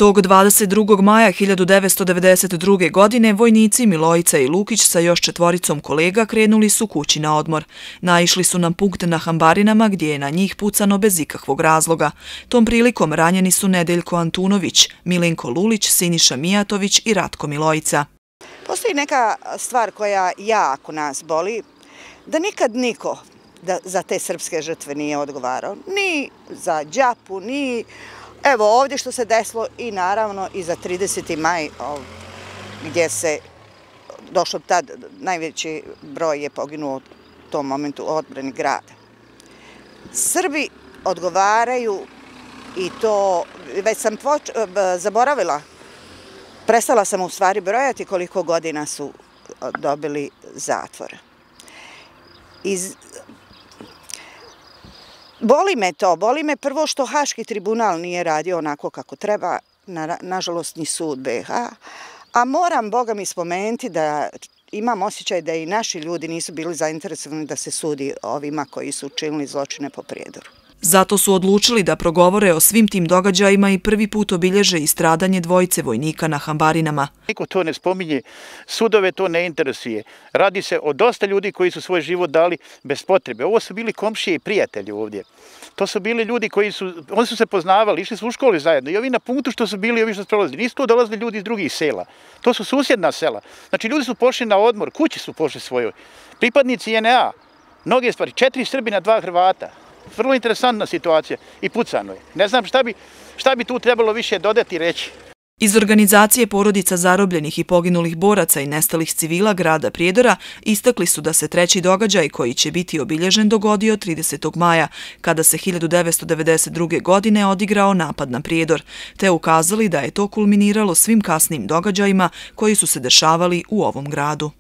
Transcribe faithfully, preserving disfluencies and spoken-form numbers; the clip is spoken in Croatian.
Tog dvadeset drugog maja hiljadu devetsto devedeset druge. godine vojnici Milojica i Lukić sa još četvoricom kolega krenuli su kući na odmor. Naišli su na punkt na Hambarinama gdje je na njih pucano bez ikakvog razloga. Tom prilikom ranjeni su Nedeljko Antunović, Milenko Lulić, Siniša Mijatović i Ratko Milojica. Postoji neka stvar koja jako nas boli, da nikad niko da za te srpske žrtve nije odgovarao. Ni za Đapu, ni evo ovdje što se desilo i naravno i za trideseti maj gdje se došlo tad, najveći broj je poginuo u tom momentu u odbrani grada. Srbi odgovaraju i to, već sam zaboravila, prestala sam u stvari brojati koliko godina su dobili zatvora. Iz Boli me to, boli me prvo što Haški tribunal nije radio onako kako treba, nažalost ni sud be ha, a moram Boga mi spomenuti da imam osjećaj da i naši ljudi nisu bili zainteresovani da se sudi ovima koji su učinili zločine po Prijedoru. Zato su odlučili da progovore o svim tim događajima i prvi put obilježe i stradanje dvojice vojnika na Hambarinama. Niko to ne spominje, sudove to ne interesuje. Radi se o dosta ljudi koji su svoj život dali bez potrebe. Ovo su bili komšije i prijatelji ovdje. To su bili ljudi koji su, oni su se poznavali, išli su u školi zajedno i ovi na punktu što su bili, ovi što su prolazili. Nisu to dolazili ljudi iz drugih sela. To su susjedna sela. Znači ljudi su pošli na odmor, kući su pošli svojoj. Pripadnici en a, mnoge stvari, četiri Srbina, dva Hrvata. Vrlo interesantna situacija i pucano je. Ne znam šta bi, šta bi tu trebalo više dodati i reći. Iz organizacije porodica zarobljenih i poginulih boraca i nestalih civila grada Prijedora istakli su da se treći događaj koji će biti obilježen dogodio tridesetog maja, kada se hiljadu devetsto devedeset druge. godine odigrao napad na Prijedor, te ukazali da je to kulminiralo svim kasnim događajima koji su se dešavali u ovom gradu.